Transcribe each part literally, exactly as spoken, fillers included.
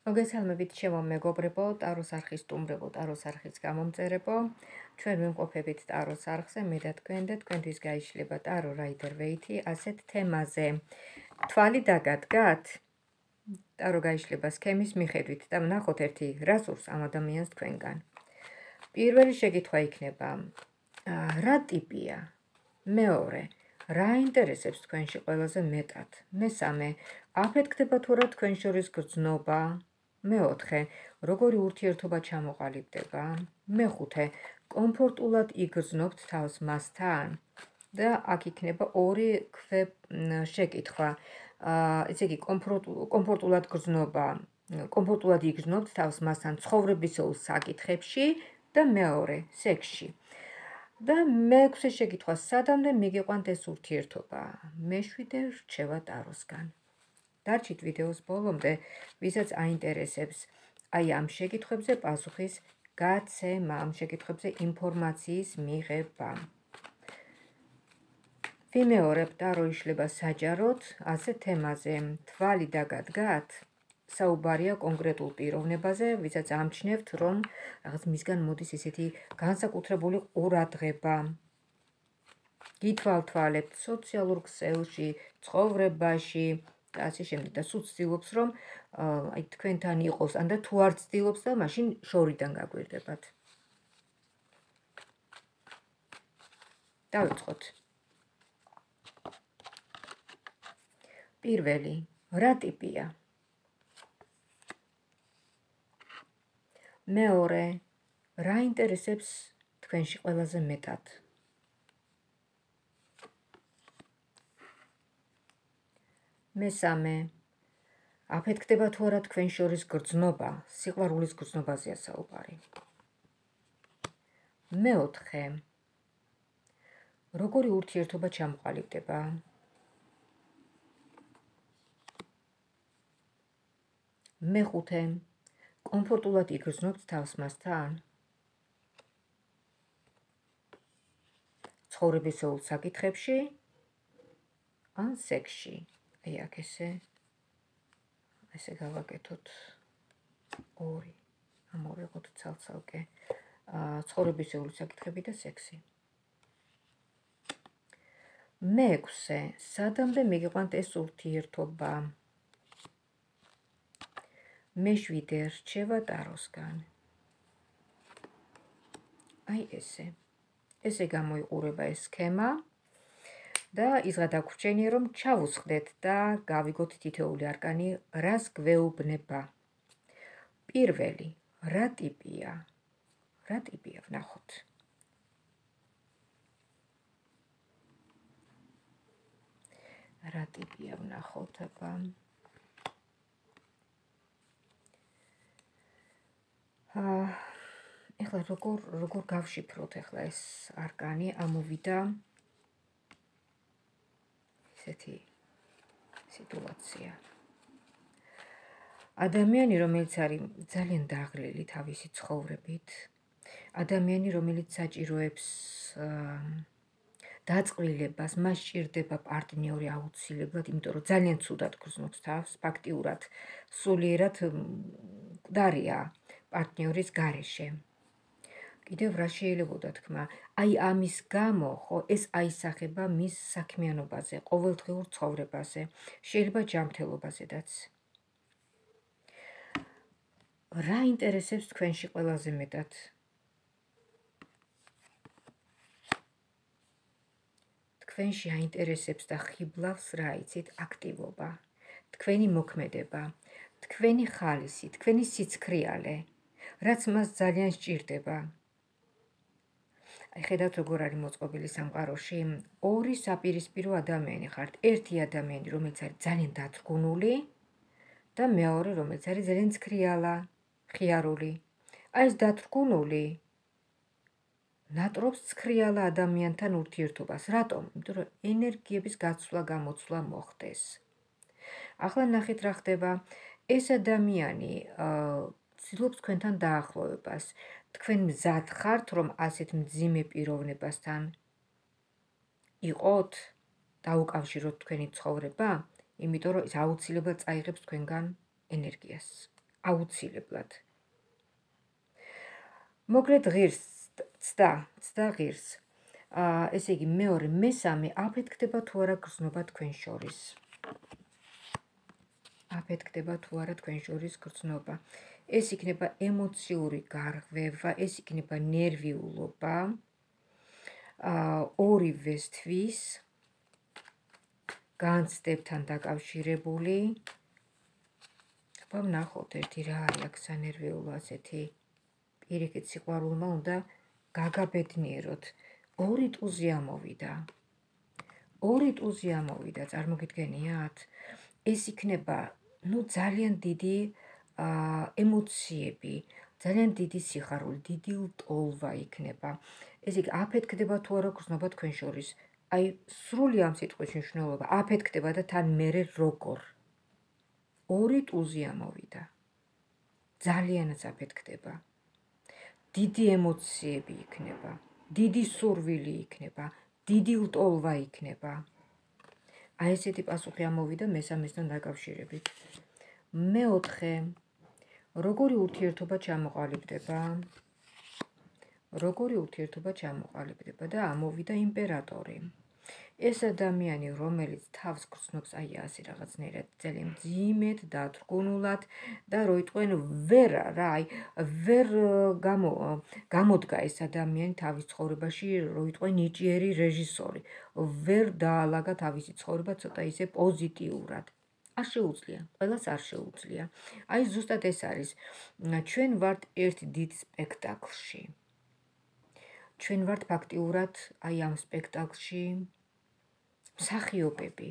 მოგესალმებით ჩემო მეგობრებო, ტაროს არხის სტუმრებო, ტაროს არხის გამომწერებო. ჩვენ ვიმყოფებით ტაროს არხზე, მე და თქვენ და თქვენთვის გაიშლება ტარო რაიდერ ვეითი ასეთ თემაზე. თვალი დაგადგათ? ტარო გაიშლება სქემის მიხედვით და ვნახოთ ერთი რასურს ამ ადამიანს თქვენგან. პირველი შეკითხვა იქნება, რა ტიპია? მეორე, რა ინტერესებს თქვენში ყველაზე მეტად? მესამე, აფეთქდება თუ რა თქვენ შორის გრძნობა? მეოთხე, როგორი ურთიერთობა ჩამოყალიბდება? მეხუთე, კომფორტულად იგრძნობთ თავს მასთან? და აქ იქნება ორი შეკითხვა. ესე იგი, კომფორტულად გრძნობა, კომფორტულად იგრძნობთ თავს მასთან ცხოვრებისეულ საკითხებში და მეორე, სექსში. და მეექვსე შეკითხვა, სადამდე მიგიყვანთ ეს ურთიერთობა? მეშვიდე რჩევა ტაროსგან. დარჩით ვიდეოს ბოლომდე, ვისაც აინტერესებს აი ამ შეკითხვებზე პასუხის გაცემა, ამ შეკითხვებზე ინფორმაციის მიღება. ვიმეორებ, ტარო იშლება საჯაროდ, ასეთ თემაზე. თვალი დაგადგათ? საუბარია კონკრეტულ პიროვნებაზე, ვისაც ამჩნევთ, რომ რაღაც მისგან მოდის ესეთი განსაკუთრებული ყურადღება. გითვალთვალებთ სოციალურ ქსელში, ცხოვრებაში, და ასე შემდეგ და სულ ცდილობს, რომ აი თქვენთან იყოს, ან და თუ არ ცდილობს და მაშინ შორიდან გაგვირდებათ. დავიწყოთ. პირველი, რა ტიპია? მეორე, რა ინტერესებს თქვენში ყველაზე მეტად? მესამე, აფეთქდება თუ არა თქვენ შორის გრძნობა, სიყვარულის გრძნობაზეა საუბარი. მეოთხე, როგორი ურთიერთობა ჩამოყალიბდება? მეხუთე, კომფორტულად იგრძნობთ თავს მასთან? ცხოვრებისეულ საკითხებში ან სექსში? აი აქ ესე ესე გავაკეთოთ ორი, ამოვიღოთ ცალ-ცალკე ცხოვრებისეული საკითხები და სექსი. მეექვსე, სადამდე მიგიყვანთ ეს ურთიერთობა? მეშვიდე რჩევა ტაროსგან. აი ესე. ესე გამოიყურება ეს სქემა. და ის გადაგვრჩენია, რომ ჩავუსხდეთ და გავიგოთ თითოეული არკანი, რას გვეუბნება. პირველი, რა ტიპია? რა ტიპია, ვნახოთ. რა ტიპია, ვნახოთ, აბა. ეხლა როგორ როგორ გავშიფროთ ეხლა ეს არკანი ამოვიდა ესეთი სიტუაცია. ადამიანი, რომელიც არის ძალიან დაღლილი თავისი ცხოვრებით, ადამიანი, რომელიც საჭიროებს დაწყვილებას, მას სჭირდება პარტნიორი აუცილებლად, იმიტომ რომ ძალიან ცუდად გრძნობს თავს, ფაქტიურად სულიერად მკვდარია პარტნიორის გარეშე. კიდევ რა შეიძლებოდა თქმა, აი ამის გამო, ხო, ეს აისახება მის საქმიანობაზე, ყოველდღიურ ცხოვრებაზე, შეიძლება ჯანმრთელობაზედაც. რა ინტერესებს თქვენში ყველაზე მეტად? თქვენში აინტერესებს და ხიბლავს რა იცით, აქტივობა, თქვენი მოქმედება, თქვენი ხალისი, თქვენი სიცქრიალე, რაც მას ძალიან სჭირდება. აი ხედავთ როგორ არის მოწყობილი სამყაროში, ორი საპირისპირო ადამიანი ხართ. ერთი ადამიანი, რომელიც არის ძალიან დათრგუნული და მეორე, რომელიც არის ძალიან ცქრიალა, ხიარული. აი ეს დათრგუნული ნატრობს ცქრიალა ადამიანთან ურთიერთობას. რატომ? იმიტომ რომ ენერგიების გაცვლა გამოცვლა მოხდეს. ახლა ნახეთ რა ხდება. ეს ადამიანი ცდილობს თქვენთან დაახლოვებას. თქვენ მზად ხართ, რომ ასეთ მძიმე პიროვნებასთან იყოთ, დაუკავშიროთ თქვენი ცხოვრება, იმიტომ რომ ის აუცილებლად წაიღებს თქვენგან ენერგიას. აუცილებლად. მოკლედ ღირს ცდა, ცდა ღირს. ესე იგი მეორე, მესამე, აფეთქდება თუ არა გრძნობა თქვენ შორის. აფეთქდება თუ არა თქვენ შორის გრძნობა. ეს იქნება ემოციური გარღვევა, ეს იქნება ნერვიულობა. ორივესთვის განცდებთან დაკავშირებული. აბა ვნახოთ ერთი რა არის აქ სანერვიულო ასეთი. პირიქით სიყვარულმა უნდა გაგაბედნიეროთ. ორი ტუზი ამოვიდა. ორი ტუზი ამოვიდა, წარმოგიდგენიათ? ეს იქნება, ну, ძალიან დიდი ემოციები, ძალიან დიდი სიხარული, დიდი ლტოლვა იქნება. ესე იგი, აფეთქდება თუ არა გრძნობა თქვენ შორის. აი, სრული ამ სიტყვის მნიშვნელობა, აფეთქდება და თან მერე როგორ. ორი ტუზი ამოვიდა. ძალიანაც აფეთქდება. დიდი ემოციები იქნება, დიდი სურვილი იქნება, დიდი ლტოლვა იქნება. აი ესეთი პასუხი ამოვიდა მესამესთან დაკავშირებით. მეოთხე, როგორი ურთიერთობა ჩამოყალიბდება? როგორი ურთიერთობა ჩამოყალიბდება და ამოვიდა იმპერატორი. ეს ადამიანი, რომელიც თავს გრძნობს, აი ასე რაღაცნაირად ძალიან მძიმედ, დათრგუნულად და რო იტყვენ ვერ რა, აი ვერ გამოდგა ეს ადამიანი თავის ცხოვრებაში, რო იტყვენ ნიჭიერი რეჟისორი. ვერ დაალაგა თავისი ცხოვრება ცოტა ისე პოზიტიურად. არ შეუძლია, ყველას არ შეუძლია. აი ზუსტად ეს არის. ჩვენ ვართ ერთ დიდ სპექტაკლში. ჩვენ ვართ ფაქტიურად აი ამ სპექტაკლში მსახიობები,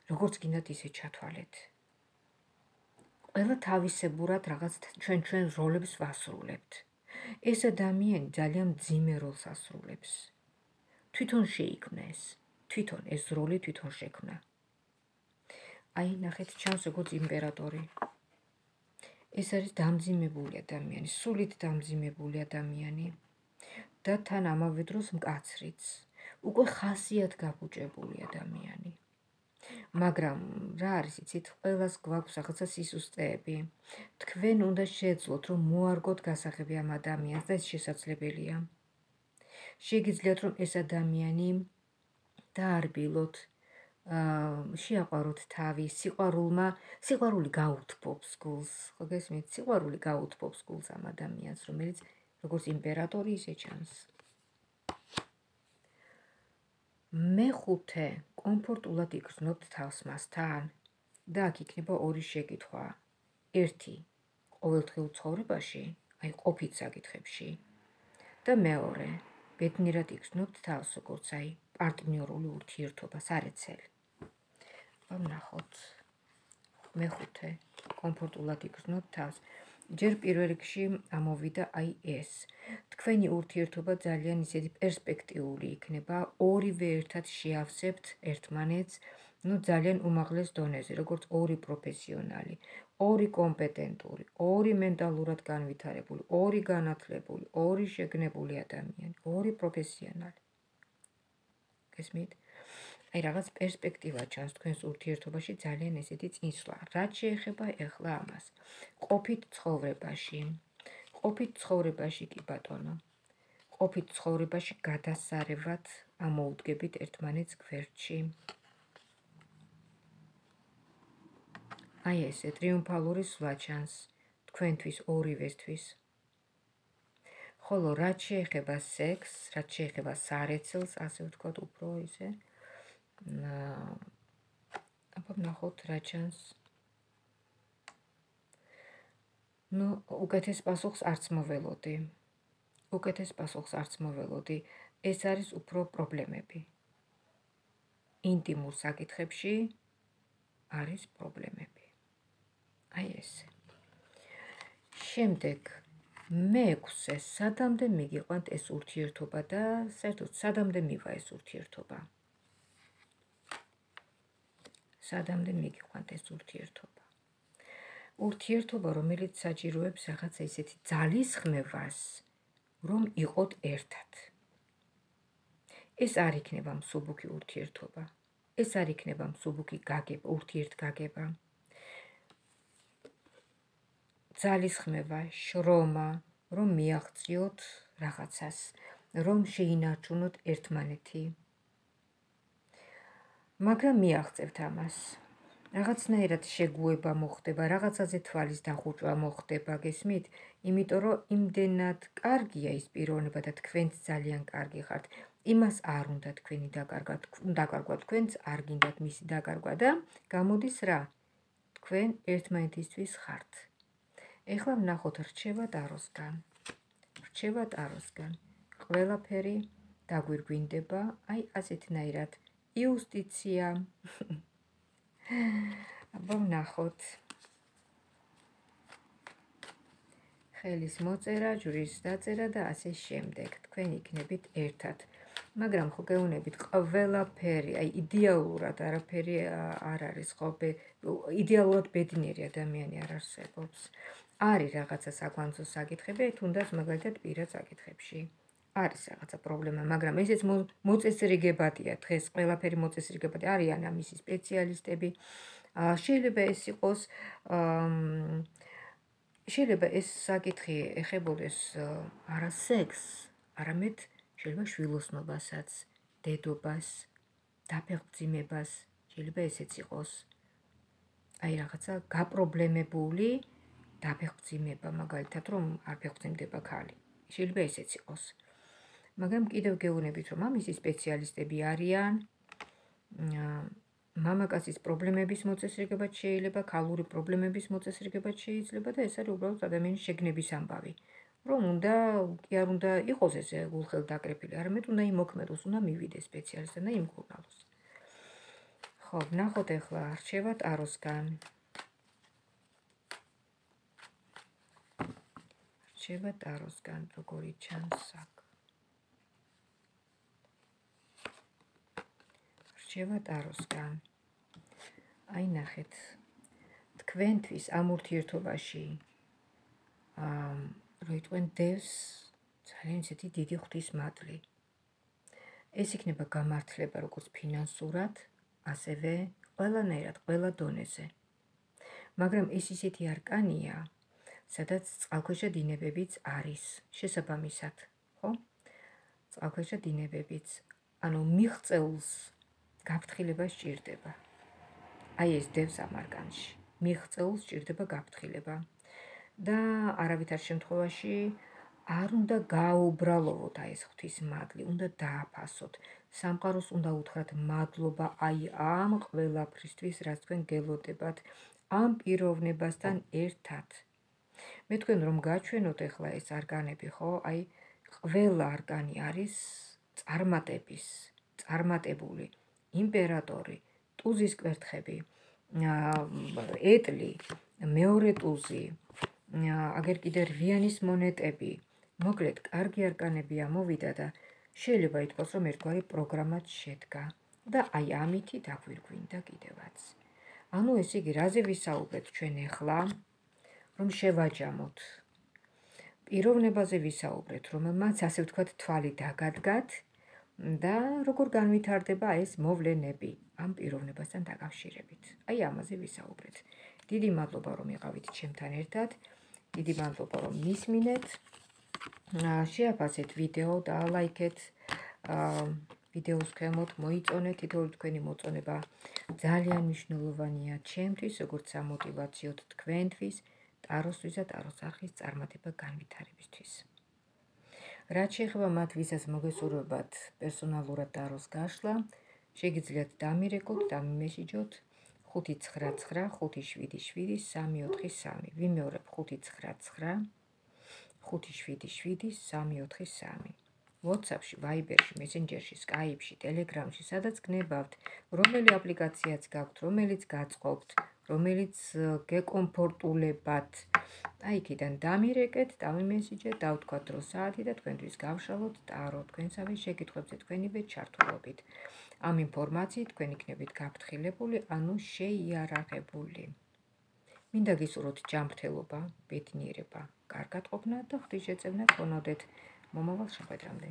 როგორც გინდათ ისე ჩათვალეთ. ყველა თავისებურად რაღაც ჩვენ ჩვენ როლებს ვასრულებთ. ეს ადამიანი ძალიან მძიმე როლს ასრულებს. თვითონ შეიქმნა ეს, თვითონ ეს როლი თვითონ შექმნა. აი, ნახეთ, ჩანს როგორც იმპერატორი. ეს არის დამძიმებული ადამიანი, სულით დამძიმებული ადამიანი და თან ამავე დროს მკაცრიც. უკვე ხასიათ გაბუჭებული ადამიანი. მაგრამ რა არის, იცით, ყველას გვაქვს რაღაცა სისუსტეები. თქვენ უნდა შეძლოთ, რომ მოარგოთ გასაღები ამ ადამიანს და ეს შესაძლებელია. შეგიძლიათ, რომ ეს ადამიანი დაარბილოთ, შეაყვაროთ თავი, სიყვარულმა, სიყვარული გაუთბობს გულს, ხო გესმით? სიყვარული გაუთბობს გულს ამ ადამიანს, რომელიც როგორც იმპერატორი ისე ჩანს. მეხუთე, კომფორტულად იგრძნობთ თავს მასთან და აქ იქნება ორი შეკითხვა. ერთი, ყოველდღიურ ცხოვრებაში, აი ყოფით საკითხებში და მეორე, ბედნიერად იგრძნობთ თავს, როგორც აი პარტნიორული ურთიერთობა, სარეცელი. ვნახოთ. მეხუთე, კომფორტულად იგრძნობთ თავს. ჯერ პირველ რიგში ამოვიდა აი ეს. თქვენი ურთიერთობა ძალიან ისეთი პერსპექტიული იქნება, ორივე ერთად შეავსებთ ერთმანეთს, ну ძალიან უმაღლეს დონეზე, როგორც ორი პროფესიონალი, ორი კომპეტენტური, ორი მენტალურად განვითარებული, ორი განათლებული, ორი შეგნებული ადამიანი, ორი პროფესიონალი. გესმით? აი რაღაც პერსპექტივა ჩანს თქვენს ურთიერთობაში ძალიან ესეთი წინსვლა. რაც შეეხება ეხლა ამას. ყოფით ცხოვრებაში. ყოფით ცხოვრებაში კი ბატონო. ყოფით ცხოვრებაში გადასარევად ამოუდგებით ერთმანეთს გვერდში. აი ესე ტრიუმფალური სვლა ჩანს თქვენთვის ორივესთვის. ხოლო რაც შეეხება სექსს, რაც შეეხება სარეცელს, ასე ვთქვათ, უფრო ისე აბა ვნახოთ რა ჩანს. ну, უკეთეს პასუხს არც მოველოდი. უკეთეს პასუხს არც მოველოდი. ეს არის უფრო პრობლემები. ინტიმურ საკითხებში არის პრობლემები. აი ესე. შემდეგ მეექვსე, სადამდე მიგიყვანთ ეს ურთიერთობა და საერთოდ სადამდე მივა ეს ურთიერთობა. სადამდე მიგიყვანთ ეს ურთიერთობა. ურთიერთობა, რომელიც საჭიროებს რაღაცა ისეთი ძალისხმევას, რომ იყოთ ერთად. ეს არ იქნება მსუბუქი ურთიერთობა. ეს არ იქნება მსუბუქი გაგება, ურთიერთგაგება. ძალისხმევა, შრომა, რომ მიაღწიოთ რაღაცას, რომ შეინარჩუნოთ ერთმანეთი. მაგრამ მიაღწევთ ამას. რაღაცნაირად შეგუება მოხდება, რაღაცაზე თვალის დახუჭვა მოხდება, გესმით? იმიტომ რომ იმდენად კარგია ის პიროვნება და თქვენც ძალიან კარგი ხართ. იმას არ უნდა თქვენი დაკარგვა, დაკარგვა თქვენც არ გინდათ მისი დაკარგვა და გამოდის რა? თქვენ ერთმანეთისთვის ხართ. ეხლა ვნახოთ რჩევა ტაროსგან. რჩევა ტაროსგან. ყველაფერი დაგვირგვინდება, აი ასეთნაირად. იუსტიცია. აბა ვნახოთ. ხელის მოწერა, ჯვრის დაწერა და ასე შემდეგ. თქვენ იქნებით ერთად. მაგრამ ხო გეუბნებით, ყველაფერი, აი იდეალურად არაფერი არ არის, ხო, იდეალურად ბედნიერი ადამიანი არ არსებობს. არის რაღაცა საკვანძო საკითხები, თუნდაც მაგალითად პირად საკითხებში. არის რაღაცა პრობლემა, მაგრამ ესეც მოწესრიგებადია, დღეს ყველაფერი მოწესრიგებადი არიან ამისი სპეციალისტები. შეიძლება ეს იყოს, შეიძლება ეს საკითხი ეხებოდეს არა სექსს, არამედ შეიძლება შვილოსნობასაც, დედობას, დაფეხმძიმებას, შეიძლება ესეც იყოს. აი რაღაცა გაპრობლემებული დაფეხმძიმება, მაგალითად რომ არ ფეხმძიმდება ქალი. შეიძლება ესეც იყოს. მაგრამ კიდევ გეუბნებით, რომ ამისი სპეციალისტები არიან. მამაკაცის პრობლემების მოწესრიგებაც შეიძლება, ქალური პრობლემების მოწესრიგებაც შეიძლება და ეს არის უბრალოდ ადამიანის შეგნების ამბავი. რომ უნდა, კი არ უნდა იყოს ესე გულხელდაკრეფილი, არამედ უნდა იმოქმედოს, უნდა მივიდეს სპეციალისტთან და იმკურნალოს. ხო, ვნახოთ ახლა რჩევა ტაროსგან. რჩევა ტაროსგან, როგორი ჩანს აქ. რჩევა ტაროსგან. აი ნახეთ. თქვენთვის ამ ურთიერთობაში როიტყვენ დევს ძალიან ისეთი დიდი ღვთის მადლი. ეს იქნება გამართლება როგორც ფინანსურად, ასევე ყველანაირად, ყველა დონეზე. მაგრამ ეს ისეთი არკანია, სადაც წყალქვეშა დინებებიც არის შესაბამისად, ხო? წყალქვეშა დინებებიც, ანუ მიღწეულს გაფრთხილება სჭირდება. აი ეს დევს ამ არკანში. მიღწეულს სჭირდება გაფრთხილება. და არავითარ შემთხვევაში არ უნდა გააუბრალოვოთ აი ეს ღვთის მადლი, უნდა დააფასოთ. სამყაროს უნდა უთხრათ მადლობა აი ამ ყველაფრისთვის, რაც თქვენ გელოდებათ, ამ პიროვნებასთან ერთად. მე თქვენ რომ გაჩვენოთ ახლა ეს არკანები, ხო? აი ყველა არკანი არის წარმატების, წარმატებული, იმპერატორი, ტუზის კვერთხები, ეტლი, მეორე ტუზი, აგერ კიდე რვიანის მონეტები. მოკლედ, კარგი არკანები ამოვიდა და შეიძლება ითქვას, რომ ერთგვარი პროგრამაც შედგა და აი ამითი დაგვირგვინდა კიდევაც. ანუ ესე იგი, რაზე ვისაუბრეთ ჩვენ ახლა, რომ შევაჯამოთ. პიროვნებაზე ვისაუბრეთ, რომელმაც ასე ვთქვათ თვალი დაგადგათ და როგორ განვითარდება ეს მოვლენები ამ პიროვნებასთან დაკავშირებით. აი ამაზე ვისაუბრეთ. დიდი მადლობა რომ იყავით ჩემთან ერთად. დიდი მადლობა რომ მისმინეთ. შეაფასეთ ვიდეო და ლაიქეთ. ვიდეოს ქვემოთ მოიწონეთ, თითოეული თქვენი მოწონება ძალიან მნიშვნელოვანია ჩემთვის, როგორც სამოტივაციოდ თქვენთვის, ტაროსთვის და ტაროს არხის წარმატება განვითარებისთვის. რაც შეეხება მათ, ვისაც მოგესურვებათ პერსონალურად ტაროს გაშლა, შეგიძლიათ დამირეკოთ, დამიმესიჯოთ ხუთი ცხრა ცხრა ხუთი შვიდი შვიდი სამი ოთხი სამი. ვიმეორებ ხუთი ცხრა ცხრა ხუთი შვიდი შვიდი სამი ოთხი სამი. WhatsApp-ში, Viber-ში, Messenger-ში, Skype-ში, Telegram-ში, სადაც გნებავთ, რომელი აპლიკაციაც გაქვთ, რომელიც გაწყობთ, რომელიც გეკომფორტულებათ. აი იქიდან დამირეკეთ, დამიმესიჯეთ, დავთქვათ დრო საათი და თქვენთვის გავშალოთ ტარო, თქვენსავე შეკითხვებზე თქვენივე ჩართულობით. ამ ინფორმაციით თქვენ იქნებით გაფრთხილებული, ანუ შეიარაღებული. მინდა გისურვოთ ჯანმრთელობა, ბედნიერება, კარგად ყოფნა და ღვთისშეწევნა გქონოდეთ. მომავალ შეხვედრამდე.